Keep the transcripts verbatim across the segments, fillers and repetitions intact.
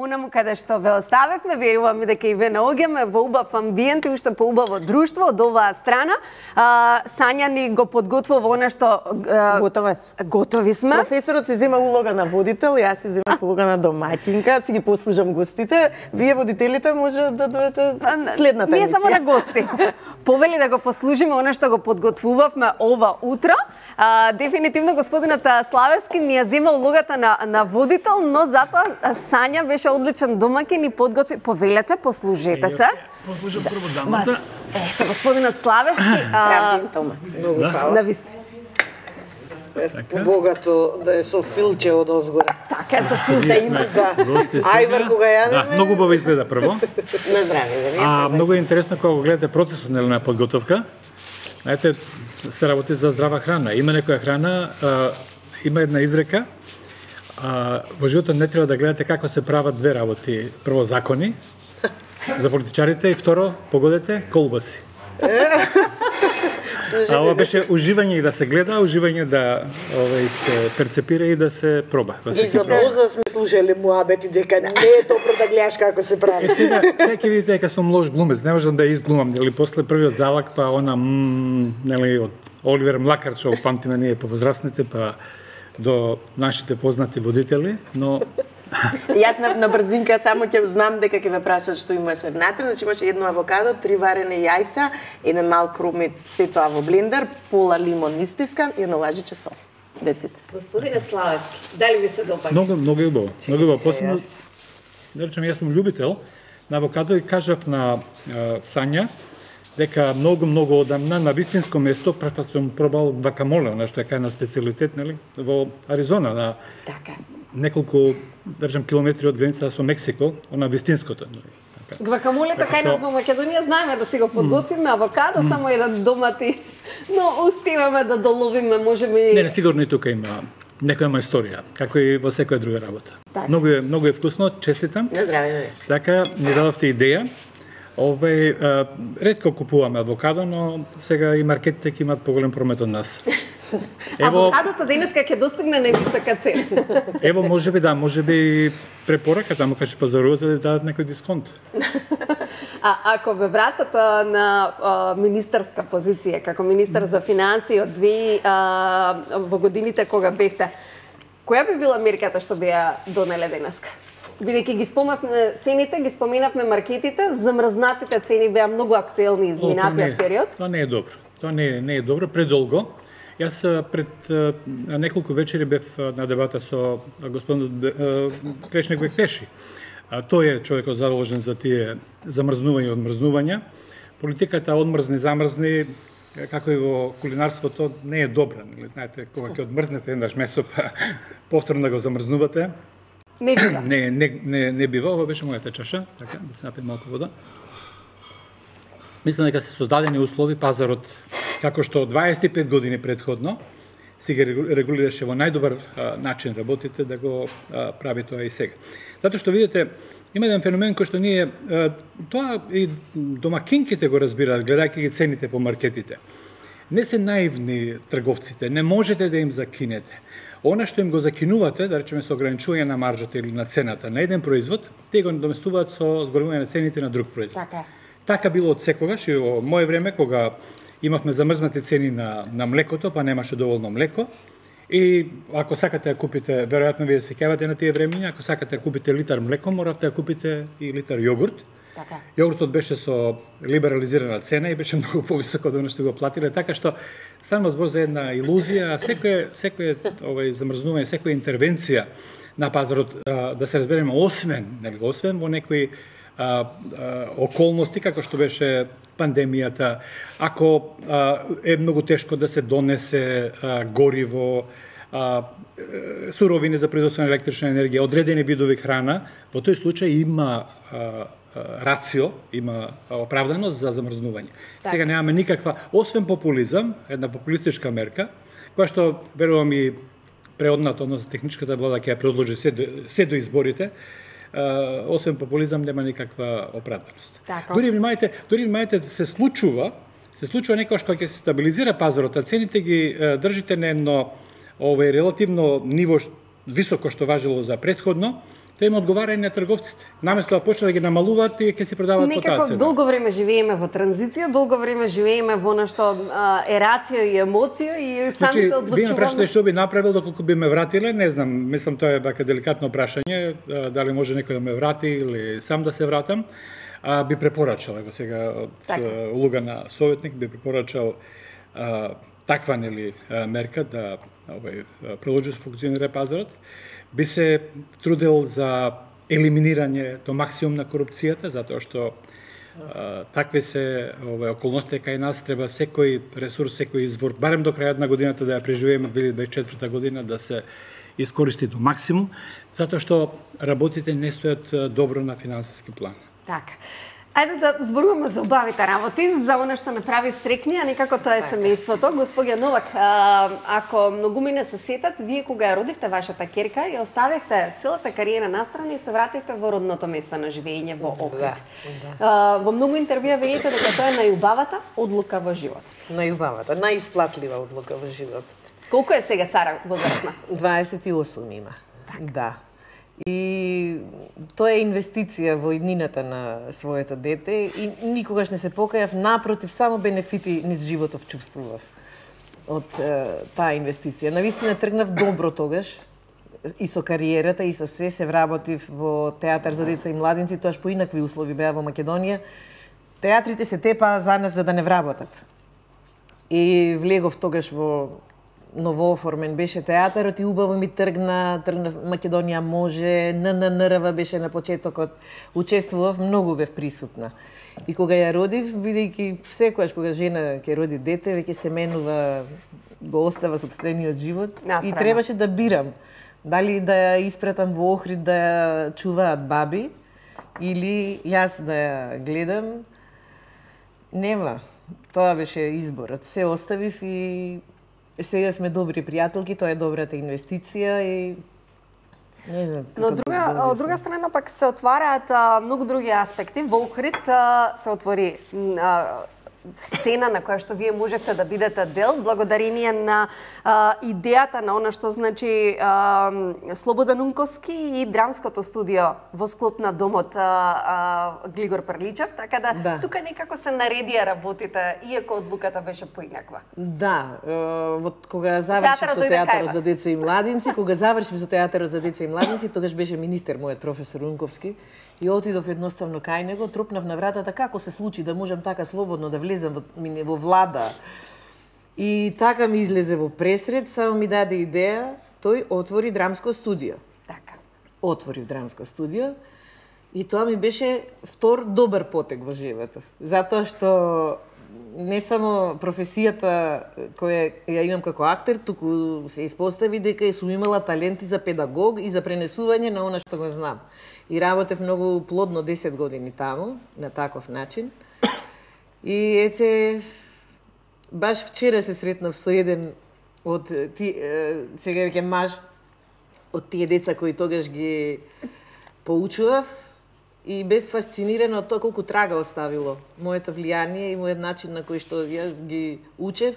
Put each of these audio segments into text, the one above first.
Унаму каде што ве оставевме, веруваме дека и ве наоѓаме во убав амбиент и уште по убаво друштво од оваа страна. А, Сања ни го подготвува она што а, готови сме. Готови сме. Професорот се зема улога на водител, јас се земам улога на домаќинка, си ги послужам гостите. Вие водителите може да дојдете следната Ние емисија. само на гости. Повели да го послужиме она што го подготвувавме ова утро. А, дефинитивно господинот Славевски ни ја зема улогата на, на водител, но затоа Сања беше одличен домаќин и подготви. Повелете, послужете се. Послужам прво дамата. Ето, господинот Славевски. Прав джентълмен. Многу фала. Да ви сте. Побогато да е со филче од озгора. Така, со филче има. Да. Ајвар кога јадеме. Да, многу убаво изгледа прво. На здраве, да ви. А многу е интересно кога го гледате процесот на подготовка. Знаете, се работи за здрава храна. Има некоја храна, а, има една изрека, а, во животот не треба да гледате како се прават две работи. Прво закони за политичарите и второ, погодете, колбаси. А ова беше уживање и да се гледа, уживање да овој се перцепира и да се проба. Да И за доза сме слушали муабети дека не е добро да гледаш како се прави. Е, сега, сега ќе видите дека сум лош глумец, не можам да ја изглумам, нели после првиот залак, па она м, нели од Оливер Млакар, што памтиме ние повозрастните, па до нашите познати водители, но Јас на, на брзинка само ќе знам дека ќе ме прашат што имаше внатре, значи имаше едно авокадо, три варени јајца, еден мал крумит, се тоа во блендер, пола лимон истискан и едно лажиче сол. Деците. Господине Славевски, дали ви се допаѓа? многу многу е убаво. Многу убаво. Посебно, да речем, јас сум љубител на авокадо и кажав на а, Сања дека многу многу одамна на вистинско место прв сум пробал гвакамоле, она што е кај на специјалитет, нели, во Аризона на Така. неколку, да речем, километри од границата со Мексико, она вистинското. Гвакамолето кај нас во Македонија знаеме да си го подготвиме, авокадо, само еден домати, но успеваме да доловиме, можеме и... Не, не, сигурно и тука има некоја моја историја, како и во секоја друга работа. Така. Многу е, многу е вкусно, честитам. На здраве, да ви. Така, ми дадовте идеја. Овој, а, ретко купуваме авокадо, но сега и маркетите ќе имаат поголем промет од нас. Ево, авокадото денеска ќе достигне невисока цена. Ево, можеби да, можеби препорака таму кај што пазарувате да дадат некој дисконт. А ако ве вратат а, на а, министерска позиција, како министер за финансии од две а, во годините кога бевте, која би била мерката што би ја донеле денеска? Бидејќи ги спомнавме цените, ги споменавме маркетите, замрзнатите цени беа многу актуелни изминатиот период. Тоа не е добро. Тоа не е, не е добро, предолго. Јас пред а, неколку вечери бев на дебата со господин Кречник Бекпеши. Тој е човекот задолжен за тие замрзнување и одмрзнувања. Политиката одмрзни, замрзни, како и во кулинарството, не е добра. Знаете, кога ќе одмрзнете еднаш месо, па повторно да го замрзнувате, Не бива. Не, не, не, не бива, ова беше мојата чаша, така, да се напием малку вода. Мислам дека се создадени услови пазарот, како што дваесет и пет години предходно, си ги регулираше во најдобар а, начин работите, да го а, прави тоа и сега. Затоа што видите, има еден феномен кој што ние, а, тоа и домакинките го разбираат, гледајќи ги цените по маркетите. Не се наивни трговците, не можете да им закинете. Она што им го закинувате, да речеме со ограничување на маржата или на цената на еден производ, те го доместуваат со зголемување на цените на друг производ. Така. Така било од секогаш и во моје време кога имавме замрзнати цени на на млекото, па немаше доволно млеко. И ако сакате да купите, веројатно вие се сеќавате на тие времиња, ако сакате да купите литар млеко, моравте да купите и литар јогурт. Така. Јогуртот беше со либерализирана цена и беше многу повисоко од она што го платиле, така што станува збор за една илузија, а секој секој овој замрзнување, секоја интервенција на пазарот, а, да се разбереме, освен, нели, освен во некои а, а, околности како што беше пандемијата, ако а, е многу тешко да се донесе а, гориво, а, суровини за производство на електрична енергија, одредени видови храна, во тој случај има а, рацио, има оправданост за замрзнување. Так. Сега немаме никаква, освен популизам, една популистичка мерка, која што, верувам и преодната, односно техничката влада ќе ја предложи се до, се до изборите, а, освен популизам нема никаква оправданост. Так, дури внимајте, дури внимајте да се случува, се случува некојаш кога ќе се стабилизира пазарот, а цените ги а, држите на едно овој релативно ниво високо што важело за претходно, тоа им одговара и на трговците. Наместо да почнат да ги намалуваат и ќе си продаваат по таа Некако цена. долго време живееме во транзиција, долго време живееме во нешто а, е рацио и емоција и самите Значи, вие ме прашате одлучуваме. што би направил доколку би ме вратиле, не знам, мислам тоа е вака деликатно прашање, а, дали може некој да ме врати или сам да се вратам. А, би препорачал, ево сега од Така. улога на советник, би препорачал а, таква нели мерка да овој продолжи да функционира пазарот. Би се трудел за елиминирање до максимум на корупцијата, затоа што а, такви се овој околности кај нас, треба секој ресурс, секој извор, барем до крајот на годината да ја преживееме две илјади дваесет и четврта година, да се искористи до максимум, затоа што работите не стојат добро на финансиски план. Така. Ајде да зборуваме за убавите работи, за оно што направи срекни, а некако тоа е семејството. Господја Новак, а, ако многумина се сетат, вие кога ја родивте вашата керка, ја оставихте целата кариера настрана и се вративте во родното место на живење во Охрид. Да, А, во многу интервјуа велите дека тоа е најубавата одлука во животот. Најубавата, најисплатлива одлука во животот. Колку е сега Сара возрастна? дваесет и осум има. Да. И тоа е инвестиција во иднината на своето дете и никогаш не се покајав, напротив, само бенефити низ животов чувствував од е, таа инвестиција. Навистина тргнав добро тогаш и со кариерата и со се се вработив во театар за деца и младинци, тоаш по инакви услови беа во Македонија. Театрите се тепаа за нас за да не вработат. И влегов тогаш во новооформен беше театарот и убаво ми тргна, тргна Македонија може, НННРВ беше на почетокот, учествував, многу бев присутна. И кога ја родив, бидејќи секојаш кога жена ќе роди дете, веќе се менува, го остава сопствениот живот Настрана. и требаше да бирам дали да ја испратам во Охрид да ја чуваат баби или јас да ја гледам. Нема. Тоа беше изборот. Се оставив и сега сме добри пријателки, тоа е добрата инвестиција и не знам. Но како друга, да од друга страна пак се отвараат а, многу други аспекти. Во Охрид а, се отвори а, сцена на која што вие можевте да бидете дел, благодарение на а, идејата на она што значи а, Слободан Унковски и драмското студио во склоп на домот а, а, Глигор Прличев, така да, Да. тука некако се наредија работите, иако одлуката беше поинаква. Да, е, во кога завршив Театарот со дојде кај театарот вас. за деца и младинци, кога завршив со театарот за деца и младинци, тогаш беше министер мојот професор Унковски и отидов едноставно кај него, тропнав на вратата како се случи да можам така слободно да влезам во, во влада. И така ми излезе во пресред, само ми даде идеја, тој отвори драмско студио. Така. Отворив драмско студио и тоа ми беше втор добар потек во животот. Затоа што не само професијата која ја имам како актер, туку се испостави дека сум имала таленти за педагог и за пренесување на она што го знам. И работев многу плодно десет години таму, на таков начин. И ете, баш вчера се сретнав со еден од ти, е, сега веќе маж, од тие деца кои тогаш ги поучував и бев фасцинирана од тоа колку трага оставило моето влијание и мојот начин на кој што јас ги учев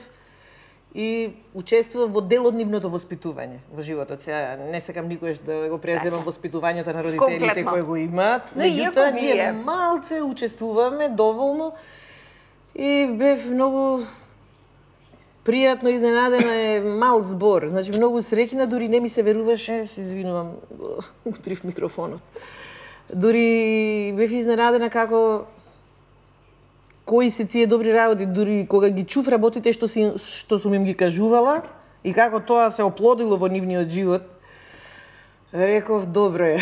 и учествував во дел од нивното воспитување во животот. Сега не сакам никогаш да го преземам воспитувањето на родителите Комплетно. кои го имаат, Но иако меѓутоа ние вие- малце учествуваме доволно и бев многу пријатно изненадена, е мал збор. Значи многу среќна, дури не ми се веруваше, се извинувам, утрив микрофонот. Дури бев изненадена како кои се тие добри работи, дури кога ги чув работите што си што сум им ги кажувала и како тоа се оплодило во нивниот живот. Реков, добро е.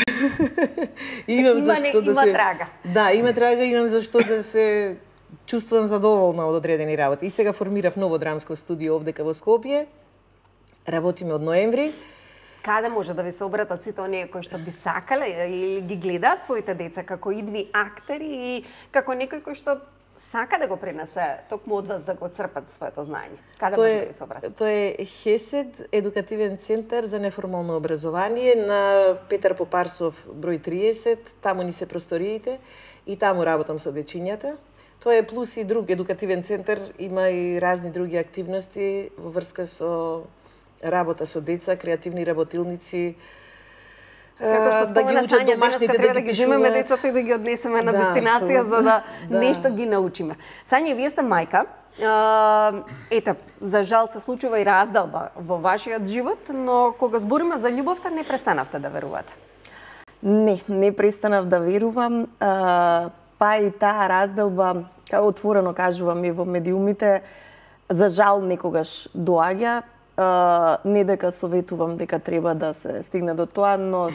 Имам Има за не- што да има се трага. Да, има трага, имам за што да се чувствувам задоволна од одредени работи. И сега формирав ново драмско студио овдека во Скопје. Работиме од ноември. Каде може да ви се обратат сите оние кои што би сакале или ги гледаат своите деца како идни актери и како некој кој што сака да го пренесе токму од вас да го црпат своето знаење? Каде Тоа може е, да ви се обратат? тоа е ХЕСЕД, едукативен центар за неформално образование на Петар Попарсов број триесет, таму ни се просториите и таму работам со дечињата. Тоа е плюс и друг едукативен центар, има и разни други активности во врска со работа со деца, креативни работилници, Како што спомена да Сања, денеска треба да ги земеме децата и да ги однесеме на да, дестинација за да, да нешто ги научиме. Сања, вие сте мајка. Ете, за жал се случува и раздалба во вашиот живот, но кога збориме за љубовта, не престанавте да верувате. Не, не престанав да верувам. А, па и таа раздалба, како отворено кажувам и во медиумите, за жал некогаш доаѓа. Uh, не дека советувам дека треба да се стигне до тоа, но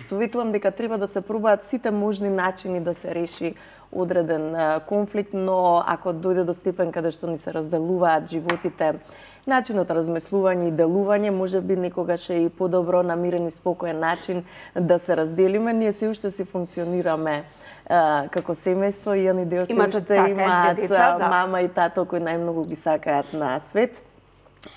советувам дека треба да се пробаат сите можни начини да се реши одреден uh, конфликт, но ако дојде до степен каде што ни се разделуваат животите, начинот размислување и делување, може би некогаш е и подобро намирен и спокоен начин да се разделиме. Ние се уште си функционираме uh, како семејство и они дел се уште имаат деца, да. Мама и тато кои најмногу ги сакаат на свет.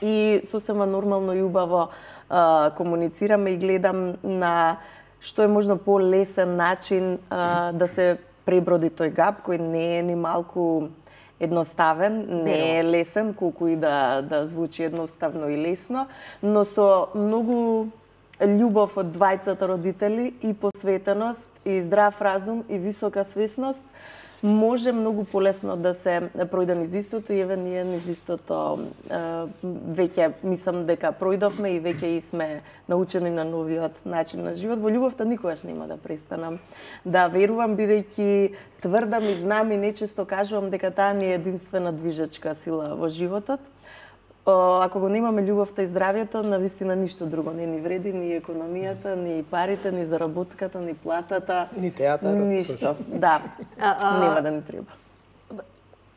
И сосема нормално и убаво а, комуницираме и гледам на што е можно по-лесен начин а, да се преброди тој гап, кој не е ни малку едноставен, не е лесен, колку и да, да звучи едноставно и лесно, но со многу љубов од двајцата родители и посветеност, и здрав разум, и висока свесност, може многу полесно да се пројде низ истото и еве ние низ истото веќе мислам дека пројдовме и веќе и сме научени на новиот начин на живот. Во љубовта никогаш нема да престанам да верувам, бидејќи тврдам и знам и нечесто кажувам дека таа ни е единствена движечка сила во животот. Ако го немаме љубовта и здравјето, навистина ништо друго не ни вреди, ни економијата, ни парите, ни заработката, ни платата, ни театарот. Ништо, да. А, а... Нема да ни треба.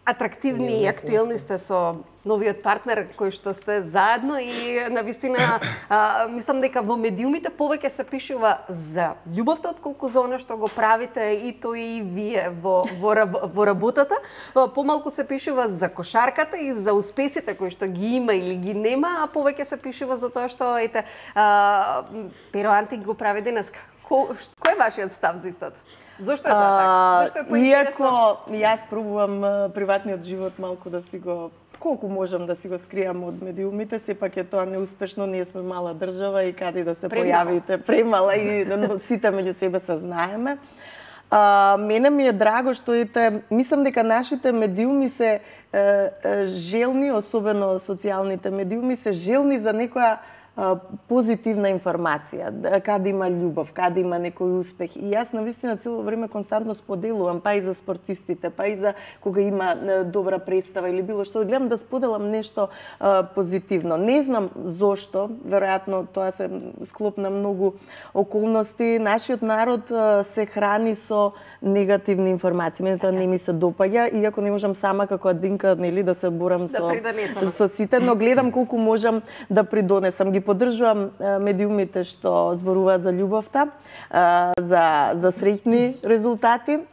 Атрактивни и актуелни сте со новиот партнер кој што сте заедно и навистина а, мислам дека во медиумите повеќе се пишува за љубовта отколку за оно што го правите и тој и вие во во, во работата. Помалку се пишува за кошарката и за успесите кои што ги има или ги нема, а повеќе се пишува за тоа што ете а, Перо Антик го прави денеска. Ко, кој е вашиот став за истото? Зошто е тоа така? Зошто е поинтересно? Иако јас пробувам приватниот живот малку да си го колку можам да си го скријам од медиумите, сепак е тоа неуспешно, ние сме мала држава и каде да се Премала. појавите, премала и сите меѓу себе се знаеме. А, мене ми е драго што ете, мислам дека нашите медиуми се е, е, желни, особено социјалните медиуми, се желни за некоја позитивна информација, каде има љубов, каде има некој успех. И јас навистина цело време константно споделувам, па и за спортистите, па и за кога има добра представа или било што, гледам да споделам нешто а, позитивно. Не знам зошто, веројатно тоа се склоп на многу околности. Нашиот народ а, се храни со негативни информации. Мене тоа не ми се допаѓа, иако не можам сама како адинка нели да се борам да со со сите, но гледам колку можам да придонесам. Ги поддржувам медиумите што зборуваат за љубовта, за за среќни резултати.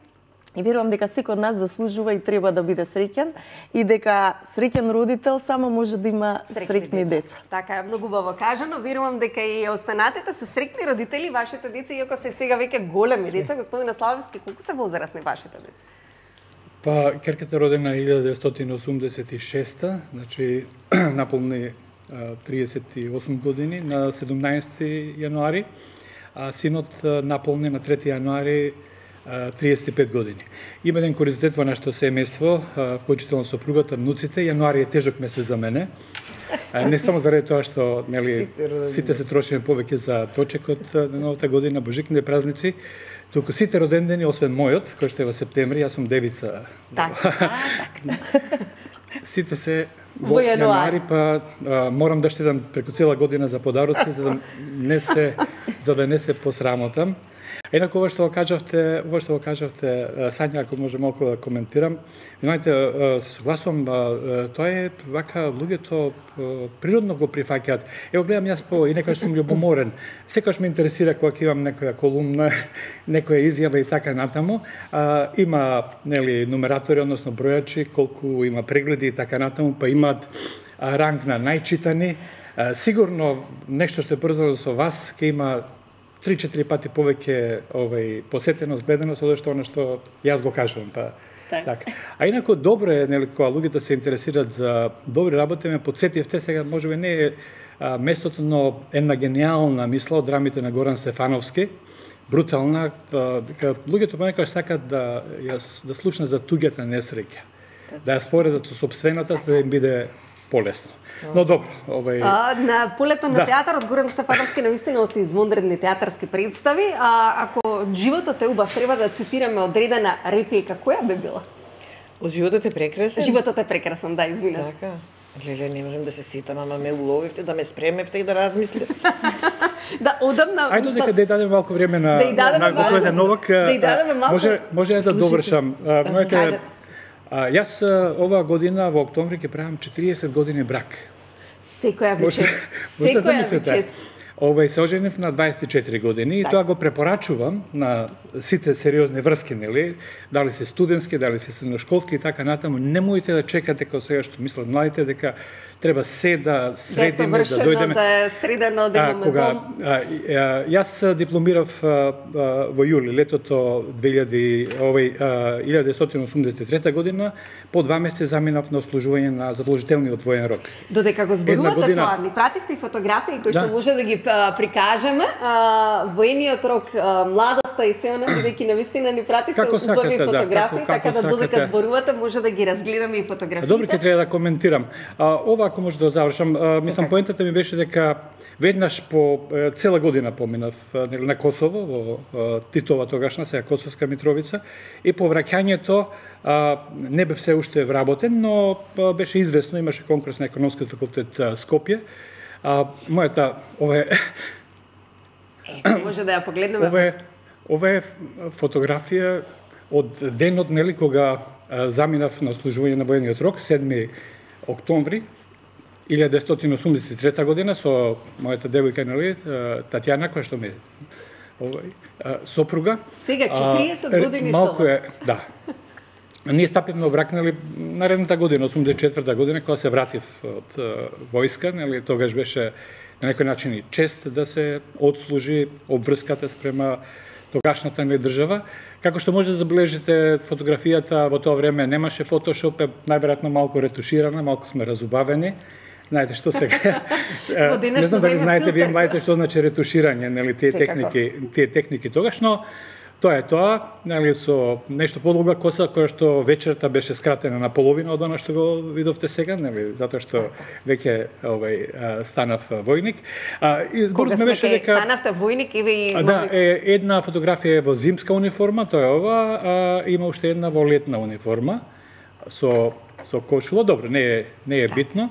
И верувам дека секој од нас заслужува и треба да биде среќен и дека среќен родител само може да има среќни деца. Така е, многу убаво кажано. Верувам дека и останатите се среќни родители, вашите деца, иако се сега веќе големи деца. Господине Славевски, колку се возрастни вашите деца? Па, керката родена илјада деветстотини осумдесет и шеста, значи наполни триесет и осум години на седумнаесети јануари, а синот наполни на трети јануари триесет и пет години. Има еден куризитет во нашето семејство, вклучително сопругата, внуците. Јануари е тежок месец за мене. Не само заради тоа што нели сите се трошиме повеќе за точекот на новата година, божикните празници, туку сите родендени освен мојот, кој што е во септември, јас сум девица. Така, така. Сите се во јануари, па а, морам да штедам преку цела година за подароци за да не се за да не се посрамотам. Инаку ова што го кажавте, ова што го кажавте, Сања, ако може малку да коментирам, знаете, се согласувам, тоа е вака луѓето природно го прифаќаат. Ево гледам јас по и некој што сум љубоморен. Секогаш ме интересира кога имам некоја колумна, некоја изјава и така натаму. А, има нели нумератори, односно бројачи, колку има прегледи и така натаму, па имаат ранг на најчитани. А, сигурно нешто што е поврзано со вас ќе има три-четири пати повеќе овај посетеност, гледаност од што она што јас го кажувам, па так. така. А инаку добро е нели кога луѓето се интересираат за добри работи, ме потсетивте сега можеби не е а, местото на една гениална мисла од рамите на Горан Стефановски, брутална, дека луѓето понекогаш сакаат да ја да слушнат за туѓата несреќа, да ја споредат со сопствената, за да им биде полесно. Но добро, овај А, на полето на Да. театарот Горан Стефановски навистина ости извонредни театарски представи, а ако животот е убав, треба да цитираме одредена реплика, која би била? Од животот е прекрасен. Животот е прекрасен, да, извинете. Така. Леле, не можам да се сетам, ама ме уловивте, да ме спремевте и да размислев. Да, одамна... Ајде дека да ја дадеме малку време на Да ја дадеме на малку- господин Новак. да ја дадеме малку- Може може јас да довршам. А, моите Кажете. а, јас а, оваа година во октомври ќе правам четириесет години брак. Секоја ви Може чест. може да Секоја ви замислите. чест. Овај се оженив на дваесет и четири години и Така. тоа го препорачувам на сите сериозни врски, нели? Дали се студентски, дали се средношколски и така натаму. Немојте да чекате како сега што мислат младите дека треба се да Да е средиме, да совршено, дојдеме. да е средено, да А, имаме кога дом. а, и- а, јас дипломирав а, а, во јули летото две илјади овој а, илјада деветстотини осумдесет и трета година, по два месеци заминав на ослужување на задолжителниот воен рок. Додека го зборувате година- тоа, ни пративте и фотографии кои што Да. може да ги а, прикажеме. А, воениот рок, а, младоста и се она, бидејќи навистина ни пративте Како убави сакате, да, фотографии, како- така како да додека сакате. зборувате може да ги разгледаме и фотографиите. Добро, ќе треба да коментирам. А, ова ако може да завршам, а, мислам Секако. поентата ми беше дека веднаш по е, цела година поминав а, нели, на Косово, во а, Титова тогашна, сега Косовска Митровица, и по враќањето а, не бев се уште вработен, но а, беше известно, имаше конкурс на економскиот факултет а, Скопје. А, мојата, ова е, Е, може да ја погледнеме. ова е, ова е фотографија од денот, нели, кога а, заминав на служување на воениот рок, седми октомври илјада деветстотини осумдесет и трета година со мојата девојка, нели, а, Татјана, која што ми е овај, а, сопруга. Сега, А, четириесет е, години со малку вас. е, да. Ние стапивме во брак, нели, наредната година, осумдесет и четврта година, кога се вратив од а, војска, нели, тогаш беше на некој начин и чест да се одслужи обврската спрема тогашната ни држава. Како што може да забележите, фотографијата во тоа време немаше фотошоп, е најверојатно малку ретуширана, малку сме разубавени. Знаете што сега? Во денешно Не знам дали време знаете вие филтер. младите што значи ретуширање, нели, тие Секако. техники, тие техники тогаш, но тоа е тоа, нели, со нешто подолга коса која што вечерта беше скратена на половина од она што го видовте сега, нели, затоа што веќе овај а, станав а, војник. А, и Кога зборот ме сме беше кај дека станавте војник и ви А, да, е, една фотографија е во зимска униформа, тоа е ова, а има уште една во летна униформа со со кошула, добро, не е не е битно.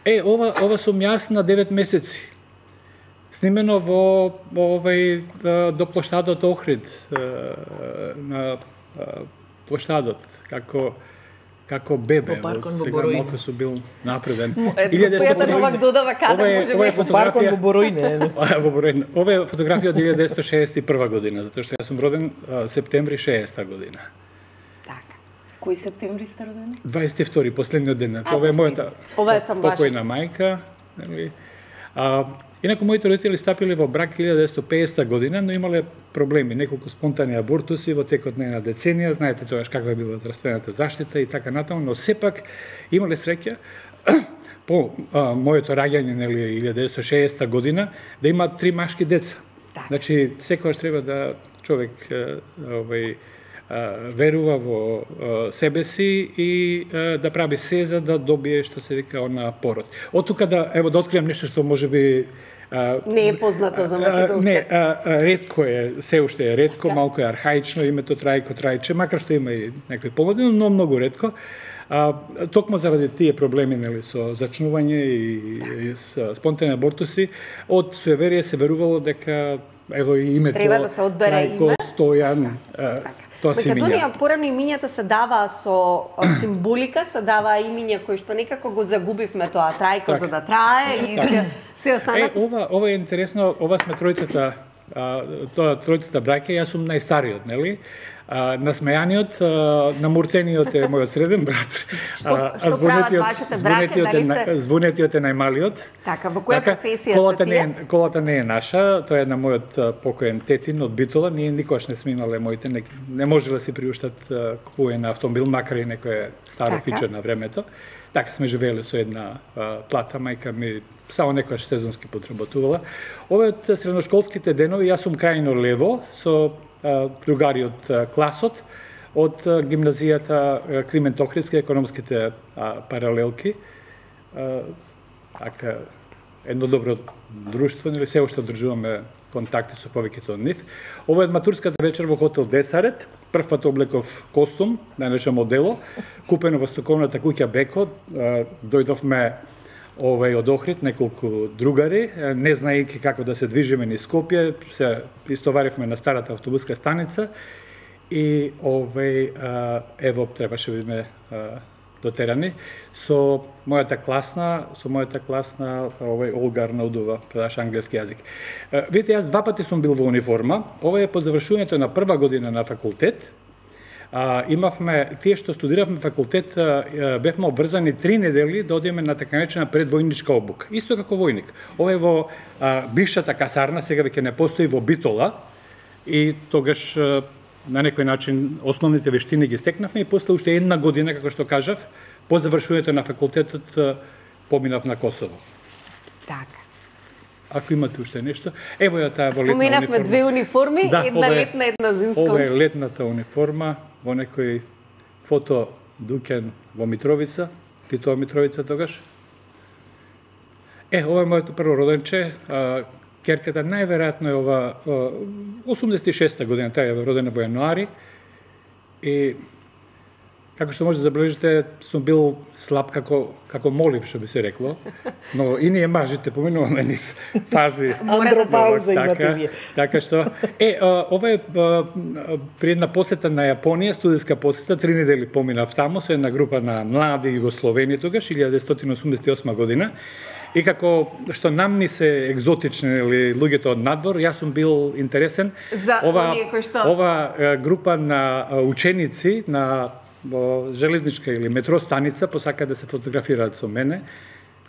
Е, ова ова сум јас на девет месеци. Снимено во во овај а, до плоштадот Охрид, а, на а, плоштадот, како како бебе. Во паркон во Сега Боројне. малку сум бил напреден. Е, господјата Новак додава каде Ова е- може ова е би. фото- Паркон Фотографија- во Боројне. Во Боројне. Ова е фотографија од илјада деветстотини шеесет и прва година, затоа што јас сум роден а, септември шеесета година. Така. Кој септември сте родени? дваесет и втори, последниот ден. Значи, А, ова е последниот. мојата Ова е сам ваш. покојна мајка. Нели? А, инаку моите родители стапиле во брак илјада деветстотини и пеесета година, но имале проблеми, неколку спонтани абортуси во текот на една деценија, знаете тогаш каква е била здравствената заштита и така натаму, но сепак имале среќа по а, моето раѓање, нели, илјада деветстотини и шеесета година, да има три машки деца. Така. Значи, секогаш треба да човек е, овај, а, верува во а, себе си и а, да прави се за да добие, што се вика, она пород. Од тука да, ево, да откриам нешто што може би а, Не е познато за а, македонска. не, а, а, ретко е, се уште е ретко, малку е архаично името Трајко Трајче, макар што има и некои помладини, но многу ретко. А, токму заради тие проблеми, нели, со зачнување и, и со спонтани абортуси, од суеверие се верувало дека ево и името Треба да се одбере Трајко име. Стојан, а, тоа се Македонија имиња. порано имињата се даваа со а, символика, се даваа имиња кои што некако го загубивме тоа Трајко Така. за да трае и се, се Е, останати. ова, ова е интересно, ова сме тројцата, а, тоа тројцата браќа, јас сум најстариот, нели? А, насмејаниот, а, намуртениот е мојот среден брат. Што- што прават вашите браќа, звонетиот е, дали на- се- звонетиот е најмалиот. Така, во која професија колата се не тие? е, колата не е наша, тоа е на мојот а, покоен тетин од Битола. Ние никогаш не сме имале моите, не, не може да си приуштат а, купување на автомобил, макар и некое старо Така. фичер на времето. така сме живееле со една а, плата, мајка ми само некојаш сезонски потработувала. Овој од средношколските денови, јас сум крајно лево со а, другари од а, класот, од а, гимназијата Климент Охридски, економските а, паралелки. А, така, едно добро друштво, нели се уште одржуваме контакти со повеќето од нив. Ова е матурската вечер во хотел Десарет. Прв пат облеков костум, најнаше модело, купено во стоковната куќа Беко. Дојдовме овај од Охрид, неколку другари, не знаејќи како да се движиме низ Скопје, се истоваривме на старата автобуска станица и овај ево требаше биме дотерани со мојата класна, со мојата класна овај Олга Арнаудова, предаваше англиски јазик. Видите, јас два пати сум бил во униформа. Ова е по завршувањето на прва година на факултет. А, имавме, тие што студиравме факултет, а, бевме обврзани три недели да одиме на така наречена предвојничка обука. Исто како војник. Ова е во а, бившата касарна, сега веќе не постои, во Битола, и тогаш а, на некој начин основните вештини ги стекнавме и после уште една година, како што кажав, по завршувањето на факултетот поминав на Косово. Така. Ако имате уште нешто, ево ја таа во летна униформа. Споменавме две униформи, да, една е, летна, една зимска. Ова е летната униформа во некој фото Дуќан во Митровица, Титова Митровица тогаш. Е, ова е моето прво роденче. Керката најверојатно е ова осумдесет и шеста година, таа е родена во јануари. И како што може да забележите, сум бил слаб како како молив, што би се рекло. Но и ние мажите поминуваме низ фази андропауза имате вие. Така што е ова е при една посета на Јапонија, студиска посета, три недели поминав таму со една група на млади југословени тогаш илјадесетстотини осумдесет и осма година. И како што нам ни се екзотични или луѓето од надвор, јас сум бил интересен. За ова, оние кои што... ова група на ученици на железничка или метро станица посака да се фотографираат со мене.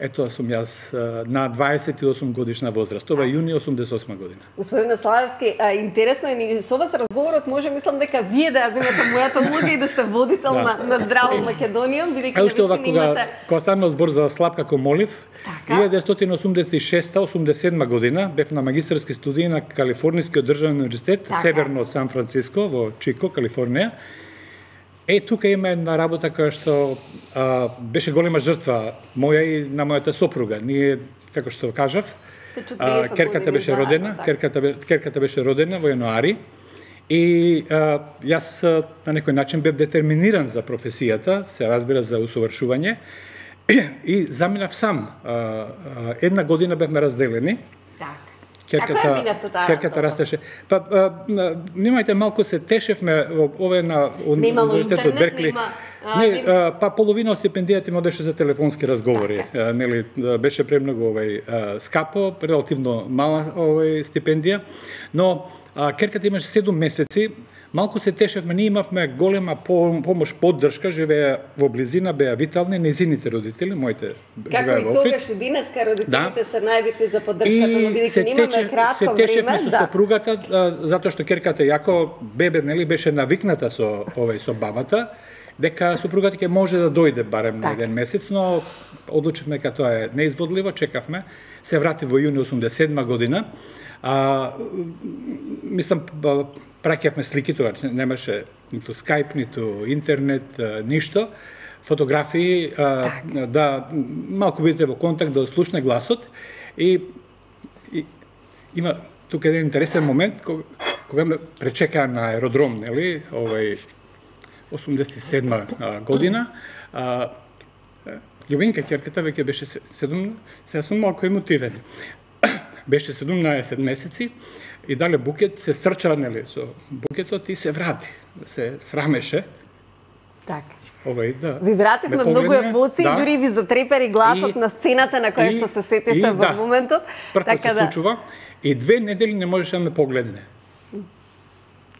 Ето сум јас на дваесет и осум годишна возраст. Ова е јуни осумдесет и осма година. Господин Славевски, интересно е и со вас разговорот може мислам дека вие да ја земете мојата улога и да сте водител да. на, на Здраво Македонија, бидејќи уште ова кога имате... кога станал збор за слаб како молив, така? илјадесетстотини осумдесет и шеста осумдесет и седма година бев на магистарски студии на Калифорнијскиот државен универзитет, така. Северно од Сан Франциско во Чико, Калифорнија. Е, тука има една работа која што а, беше голема жртва моја и на мојата сопруга. Ние, како што кажав, а, керката беше родена, да, керката, керката беше родена во јануари и а, јас на некој начин бев детерминиран за професијата, се разбира за усовршување и заминав сам. А, а, една година бевме разделени. Керката, керката растеше. Па, а, немајте, малку се тешевме, ова е на универзитетот Беркли. Нема, не, а, па половина од стипендијата им одеше за телефонски разговори. А, нели, беше премногу овај а, скапо, релативно мала овај стипендија, но а, керката имаше седум месеци. Малку се тешевме, ние имавме голема помош, поддршка, живеа во близина, беа витални, незините родители, моите како и тогаш и денеска родителите да. се најбитни за поддршката, но бидејќи немаме кратко време, се течевме со да. сопругата, затоа што керката јако бебе, нели, беше навикната со овај со бабата, дека сопругата ќе може да дојде барем на еден месец, но одлучивме дека тоа е неизводливо, чекавме, се врати во јуни осумдесет и седма година. А, мислам, праќавме слики, тоа немаше ниту скајп, ниту интернет, ништо, фотографии, а, да малку бидете во контакт, да ослушне гласот. И, и има тука еден интересен момент, кога, кога ме пречекаа на аеродром, нели, овај осумдесет и седма година, а, Љубинка, ќерката, веќе беше седум, сега сум малку емотивен. Беше седумнаесет месеци и дале букет, се стрча, нели, со букетот и се врати, се срамеше. Така. Овај, да. Ви вративме многу емоции, да. Дури ви затрепери гласот и, на сцената на која и, што се сетите во да. моментот. Прв така се да... случува и две недели не можеше да ме погледне.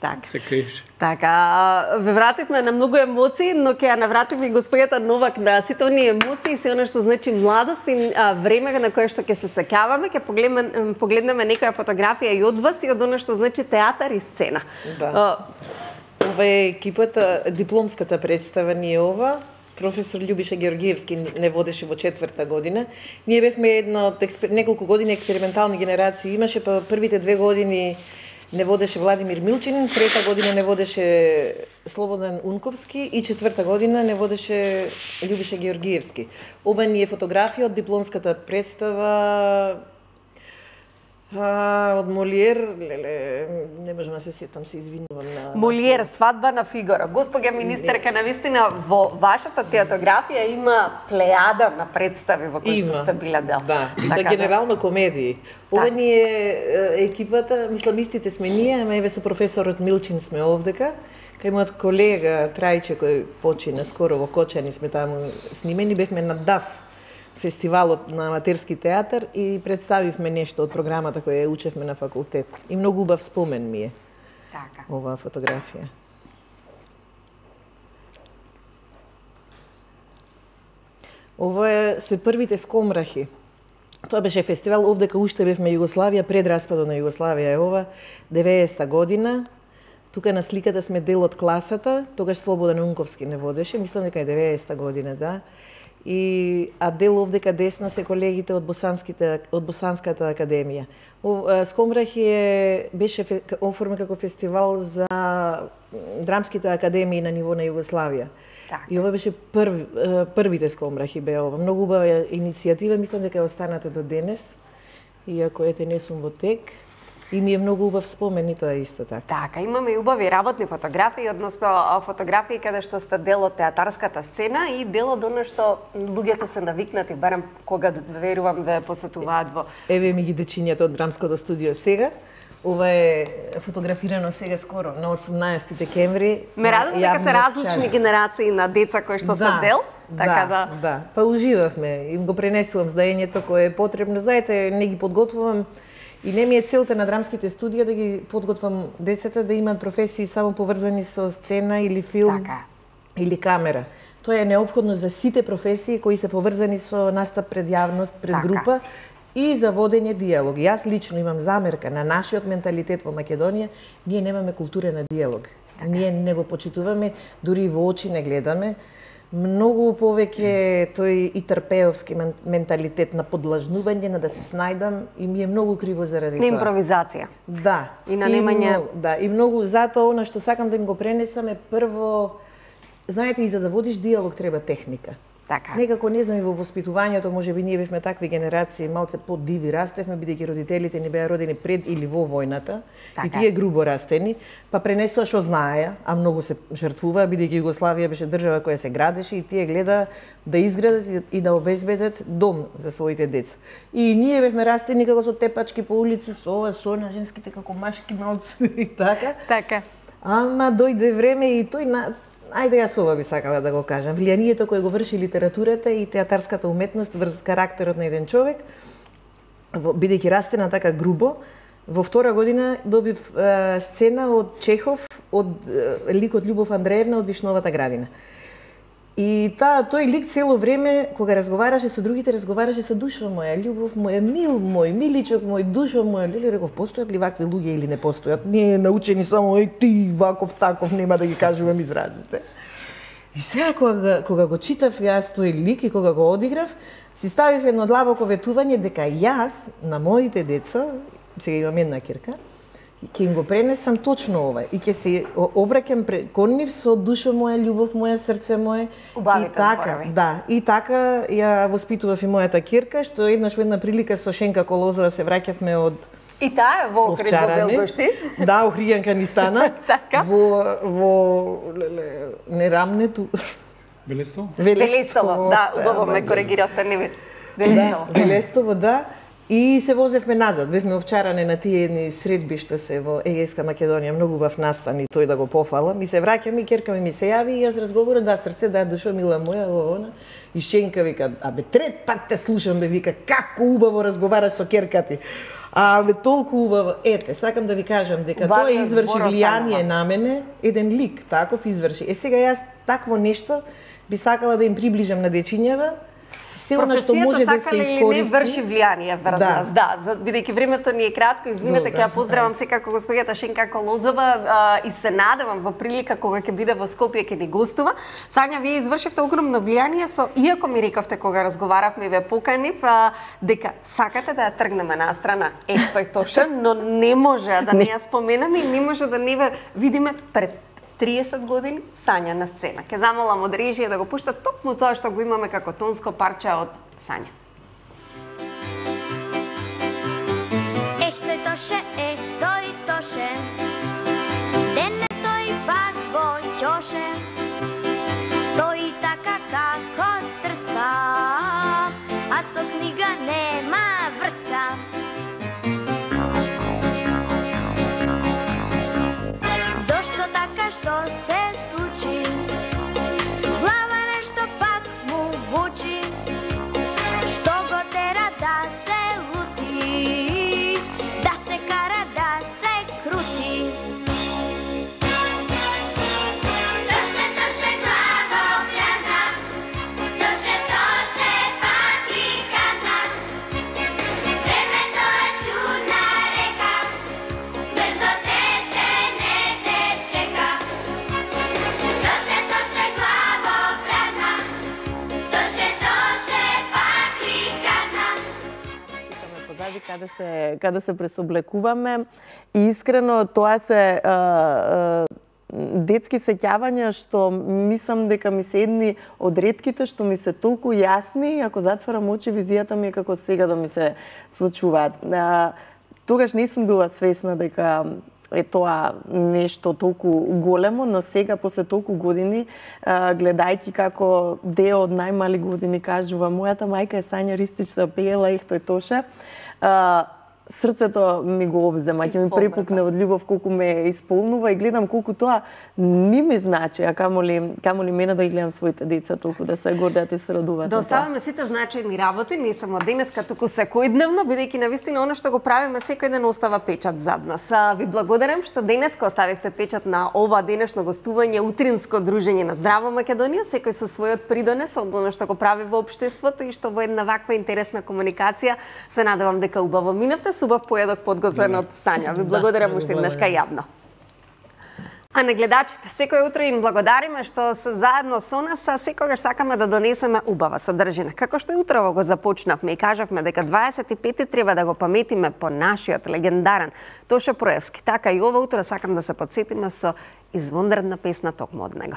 Така. Се криеше. Така, ве вративме на многу емоции, но ќе ја навратиме и господјата Новак на сите оние емоции, се она што значи младост и а, време на кое што ќе се сеќаваме, ќе погледнеме, погледнеме некоја фотографија и од вас и од она што значи театар и сцена. Да. А, ова е екипата, дипломската представа ни е ова. професор Љубиша Георгиевски не водеше во четврта година. Ние бевме една од експер... неколку години експериментални генерации. Имаше па првите две години не водеше Владимир Милчинин, трета година не водеше Слободан Унковски и четврта година не водеше Љубиша Георгиевски. Ова ни е фотографија од дипломската представа а, од Молиер, леле, не можам да се сетам, се извинувам на... Молиер, свадба на Фигаро. Господја министерка, навистина, во вашата театографија има плејада на представи во кои што сте биле дел. Да, и така, да генерално комедии. Ова Так. ни е екипата, мисламистите сме ние, ама еве со професорот Милчин сме овдека. Кај мојот колега Трајче, кој почина скоро во Кочани, сме таму снимени, бевме на ДАФ, фестивалот на аматерски театар, и представивме нешто од програмата која ја учевме на факултет. И многу убав спомен ми е Така. оваа фотографија. Ова е се првите скомрахи. Тоа беше фестивал, овдека уште бевме Југославија, пред распадот на Југославија е ова, деветдесета година. Тука на сликата сме дел од класата, тогаш Слободан Унковски не водеше, мислам дека е деветдесета година, да. И а дел овдека десно се колегите од Босанските од Босанската академија. О, Скомрахи е беше оформен како фестивал за драмските академии на ниво на Југославија. Така. И ова беше прв, првите Скомрахи беа ова. Многу убава иницијатива, мислам дека е останата до денес, иако ете не сум во тек. И ми е многу убав спомен и тоа исто така. Така, имаме и убави работни фотографии, односно фотографии каде што сте дел од театарската сцена и дел од оно што луѓето се навикнати, барем кога верувам ве посетуваат во... Еве ми ги дечињата од драмското студио сега. Ова е фотографирано сега скоро, на осумнаесети декември. Ме радам дека се различни час. генерации на деца кои што се дел, така да... Да, да. Па уживавме, им го пренесувам здаењето кое е потребно. Знаете, не ги подготвувам и не ми е целта на драмските студија да ги подготвам децата да имаат професии само поврзани со сцена или филм Така. или камера. Тоа е неопходно за сите професии кои се поврзани со настап пред јавност, пред Така. група и за водење диалог. Јас лично имам замерка на нашиот менталитет во Македонија, ние немаме култура на диалог. Така. Ние не го почитуваме, дури и во очи не гледаме. Многу повеќе тој и трпеовски менталитет на подлажнување, на да се снајдам, и ми е многу криво заради На тоа. импровизација. Да. И на немање- многу, да, и многу затоа она што сакам да им го пренесам е прво, знаете, и за да водиш диалог треба техника. Така. Некако не знам и во воспитувањето, можеби ние бевме такви генерации, малце подиви растевме, бидејќи родителите ни беа родени пред или во војната, Така. и тие грубо растени, па пренесоа што знаеа, а многу се жртвуваа, бидејќи Југославија беше држава која се градеше и тие гледа да изградат и да обезбедат дом за своите деца. И ние бевме растени како со тепачки по улици, со ова, со на женските како машки малци и така. Така. Ама дојде време и тој на Ајде јас ова би сакала да го кажам. Влијанието кое го врши литературата и театарската уметност врз карактерот на еден човек, бидејќи растена така грубо, во втора година добив е, сцена од Чехов, од е, ликот Љубов Андреевна од Вишновата градина. И таа тој лик цело време кога разговараше со другите, разговараше со душо моја, љубов моја, мил мој, миличок мој, душо моја. Леле, реков, постојат ли вакви луѓе или не постојат? Не научени само еј ти ваков таков, нема да ги кажувам изразите. И сега кога, кога го читав јас тој лик и кога го одиграв, си ставив едно длабоко ветување дека јас на моите деца, сега имам една ќерка, ќе им го пренесам точно ова и ќе се обраќам кон нив со душо моја, љубов моја, срце мое. Убавите и така, зборови. да, и така ја воспитував и мојата ќерка, што еднаш во една прилика со Шенка Колозова се враќавме од И таа е во Охрид во Белгошти. Да, Охријанка ни стана. Така. Во во леле, нерамнету. Велестово? Велестово, да, оста, убаво ама, ме коригиравте, не ви. Велестово. Да, Велестово, да. И се возевме назад. Бевме овчаране на тие едни средби што се во Егејска Македонија, многу убав настан и тој да го пофала. Ми се враќам и ќерка ми ми се јави и јас разговарам, да, срце, да, душо, мила моја, во она. И Шенка вика, абе, трет пат те слушам, бе, вика, како убаво разговараш со ќерка ти. А, бе, толку убаво. Ете, сакам да ви кажам дека Убавиот тоа изврши збор влијание останува. на мене, еден лик, таков изврши. Е, сега јас такво нешто би сакала да им приближам на дечињава, се она што може да се искористи. Професијата, сакале или не, врши влијание врз Да. нас, да. За- Бидејќи времето ни е кратко, извинете, ќе ја поздравам секако господјата Шенка Колозова а, и се надевам во прилика кога ќе биде во Скопје ќе ни гостува. Сања, вие извршивте огромно влијание со, иако ми рековте кога разговаравме и ве поканив, а, дека сакате да ја тргнеме на страна. Е, тој точно, но не може да не ја споменаме и не може да не ве видиме пред триесет години Сања на сцена. Ке замолам од режија да го пушта токму тоа што го имаме како тонско парче од Сања. Ех, тој тоше, ех, тој тоше, денес тој пак во ќоше, стои така како трска, а со книга нема врска. Зошто така, што се случи? Глава нешто пак му бучи, што го тера да се лути, да се кара, да се крути. Тоше, тоше, главо празна, тоше, тоше, пак ли казна. Времето е чудна река, брзо тече, не те чека. Тоше, тоше, главо празна, тоше, тоше, пак ли казна. Читаме позади каде се каде се пресоблекуваме и искрено тоа се а, а, детски сеќавања што мислам дека ми се едни од ретките што ми се толку јасни, ако затворам очи визијата ми е како сега да ми се случуваат. А, тогаш не сум била свесна дека е тоа нешто толку големо, но сега после толку години, а, гледајќи како део од најмали години кажува мојата мајка е Сања Ристич се пеела и тој тоше, а, срцето ми го обзема, ќе ми препукне од љубов колку ме исполнува и гледам колку тоа не ми значи, а камоли камоли мене да ги гледам своите деца толку да се гордеат и се радуваат. Да оставаме сите значајни работи, не само денеска, туку секојдневно, бидејќи навистина она што го правиме секој ден остава печат зад нас. А, ви благодарам што денеска оставивте печат на ова денешно гостување, утринско дружење на Здраво Македонија, секој со својот придонес од она што го прави во општеството и што во една ваква интересна комуникација се надевам дека убаво минавте. Убав поедок подготвен од Сања. Ви благодарам уште еднашка јавно. А на гледачите, секој утро им благодариме што се заедно со нас, а секогаш сакаме да донесеме убава содржина. Како што и утрово го започнавме и кажавме дека дваесет и пети треба да го паметиме по нашиот легендарен Тоше Проевски. Така и ова утро сакам да се подсетиме со извонредна песна токму од него.